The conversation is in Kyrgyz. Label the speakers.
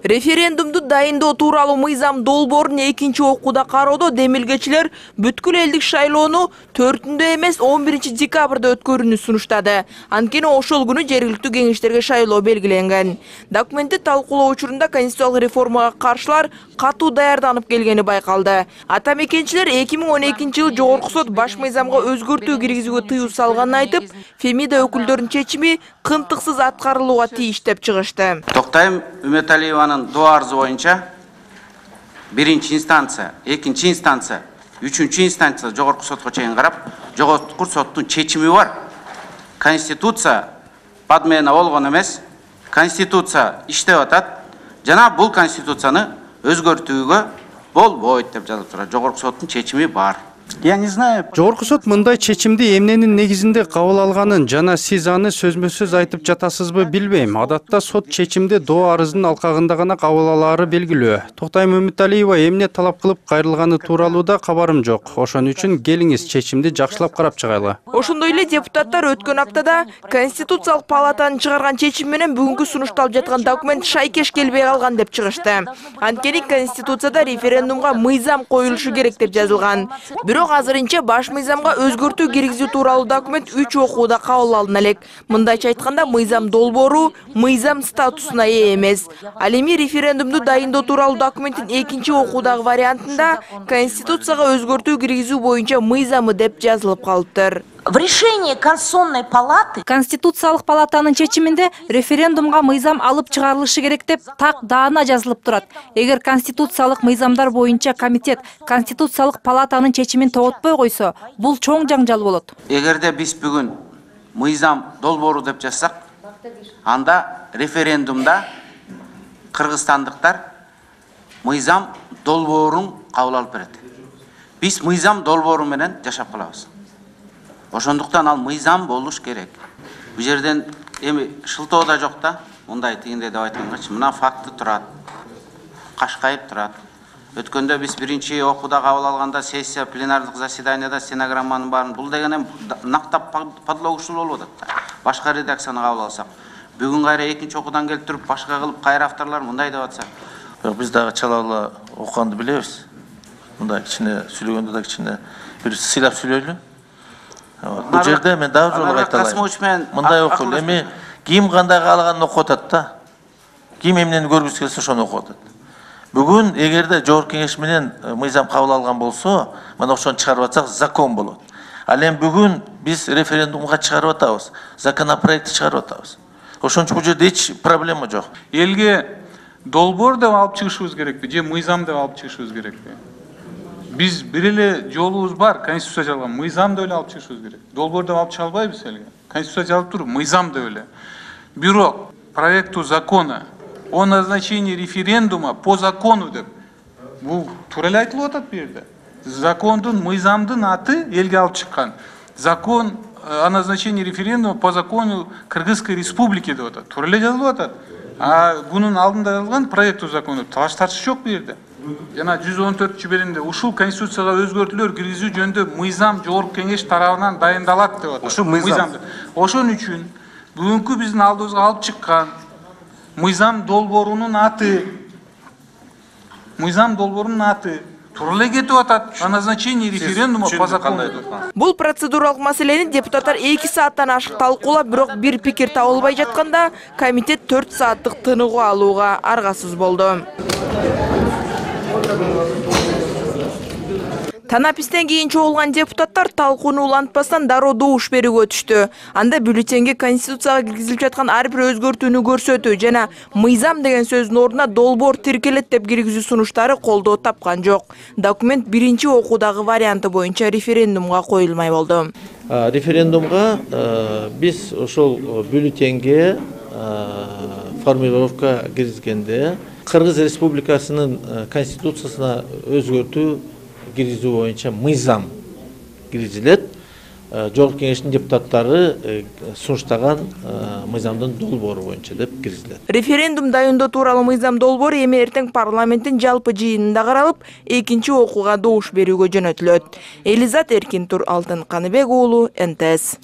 Speaker 1: Референдумду дайындоо тууралуу мыйзам долбоорун экинчи окууда кароодо демилгечилер бүткүл элдик шайлоону 4-ндө эмес 11 декабрда өткөрүүнү сунуштады. Анткени ошол күнү жергиликтүү кеңештерге шайлоо белгиленген. Документти талкуулоо учурунда конституциялык реформага каршылар катуу даярданып келгени байкалды. Ата мекенчилер 2012-жылы Жогорку сот баш мыйзамга өзгөртүү киргизүүгө тыюу салганын айтып, Фемида өкүлдөрүнүн чечими кымтыксыз аткарылууга тийиш деп чыгышты.
Speaker 2: Токтайм Үмөталиеванын доо арызы боюнча биринчи инстанция, экинчи инстанция, үчүнчү инстанция Жогорку сотко чейин карап, Жогорку соттун чечими бар. Конституция подмена болгон эмес, Конституция иштеп атат. Жана бул Конституцияны өзгөртүүгө болбойт деп жазылып турат. Жогорку соттун чечими бар.
Speaker 3: Я не знаю.
Speaker 4: Жогорку сот мындай чечимди эмненин негизинде кабыл алганын жана сиз аны сөзмө-сөз айтып жатасызбы билбейм. Адатта сот чечимди доо арыздын алкагында гана кабыл алаары белгилүү. Токтайм Үмөталиева эмне талап кылып кайрылганы тууралуу да кабарым жок. Ошон үчүн келиңиз чечимди жакшылап карап чыгайлы.
Speaker 1: Ошондой эле депутаттар өткөн аптада Конституциялык палатанын чыгарган чечими менен бүгүнкү сунушталып жаткан документ шайкеш келбей калган деп чыгышты. Анткени Конституцияда референдумга мыйзам коюлушу керек деп жазылган. Бирок азырынча баш мыйзамга өзгөртүү киргизүү тууралуу документ 3 окууда кабыл алына элек. Мындайча айтканда, мыйзам долбоору мыйзам статусуна ээ эмес. Ал эми референдумду дайындоо тууралуу документтин экинчи окуудагы вариантында Конституцияга өзгөртүү киргизүү боюнча мыйзамы деп жазылып калыптыр.
Speaker 5: В решении Конституционной палаты
Speaker 6: Конституциялык палатанын чечиминде референдумга мыйзам алып чыгарылышы керек деп так даана жазылып турат. Эгер конституциялык мыйзамдар боюнча комитет Конституциялык палатанын чечимин тоготпой койсо, бул чоң жаңжал болот.
Speaker 2: Эгерде биз бүгүн мыйзам долбоору деп жазсак, анда референдумда кыргызстандыктар мыйзам долбоорун кабыл алып берет. Биз мыйзам долбоору менен жашап калабыз. Ошондуктан ал мыйзам болуш керек. Бу жерден эми шылтоо да жок да, мындай тигинде деп айткангачы, мына факты турат. Кашкайып турат. Өткөндө биз биринчи окууда кабыл алганда сессия пленардык заседанияда стенограмманын баарын бул деген эми нактап подлогушул болуп атат. Башка редакцияны кабыл алсак, бүгүн кайра экинчи окуудан келип туруп башка кылып кайра авторлор мындай деп атса,
Speaker 7: бирок биз дагы чалалы окуганды билебиз. Мындай кичине сүйлөгөндө да кичине бир сыйлап сүйлөйлү. Бул жерде мен дагы жолу айталайм. Мындай окул эми ким кандай каалаганын окуп атат да. Ким эмнени көргүсү келсе ошону окуп атат. Бүгүн эгерде Жогорку кеңеш менен мыйзам кабыл алган болсо, мына ошону чыгарып атсак закон болот. Ал эми бүгүн биз референдумга чыгарып атабыз, законопроект чыгарып атабыз. Ошон үчүн бул жерде эч проблема жок.
Speaker 8: Элге долбоор деп алып чыгышыбыз керекпи, же мыйзам деп алып чыгышыбыз керекпи? Биз бир эле жолубуз бар, Конституция жазылган, мыйзам деп эле алып чыгышыбыз керек. Долбоор деп алып чыга албайбыз элге. Конституция жазылып туруп, мыйзам деп эле. Бирок проекту закона о назначении референдума по закону деп. Бул туура эле айтылып атат бу жерде. Закондун, мыйзамдын аты элге алып чыккан. Закон о назначении референдума по закону Кыргызской республики деп атат. Туура эле жазылып атат. А бунун алдында жазылган проекту закону талаш тартыш жок бу жерде. Жана 114-бөлүмдө ушул Конституцияга өзгөртүүлөр киргизүү жөнүндө мыйзам Жогорку кеңеш тарабынан дайындалат деп атат.
Speaker 3: Ошол мыйзам.
Speaker 8: Ошон үчүн бүгүнкү биздин алдыбызга алып чыккан мыйзам долбоорунун аты туура эле кетип атат. О назначении референдума по закону.
Speaker 1: Бул процедуралык маселени депутаттар 2 сааттан ашык талкуулап, бирок бир пикир табылбай жатканда комитет 4 сааттык тыныгуу алууга аргасыз болду. Танапистен кийин чогулган депутаттар талкууну улантпастан дароо добуш берүүгө өтүштү. Анда бюллетенге Конституцияга киргизилип жаткан ар бир өзгөртүүнү көрсөтүү жана мыйзам деген сөздүн ордуна долбоор тиркелет деп киргизүү сунуштары колдоо тапкан жок. Документ биринчи окуудагы варианты боюнча референдумга коюлмай болду.
Speaker 9: Референдумга биз ошол бюллетенге формулировка киргизгенде Кыргыз Республикасынын конституциясына өзгөртүү киргизүү боюнча мыйзам киргизилет. Жогорку кеңештин депутаттары сунуштаган мыйзамдын долбоору боюнча деп киргизилет.
Speaker 1: Референдум дайындоо тууралуу мыйзам долбоору эми эртең парламенттин жалпы жыйынында каралып, экинчи окууга добуш берүүгө жөнөтүлөт. Элизат Эркинтур, Алтын Каныбек уулу, НТС.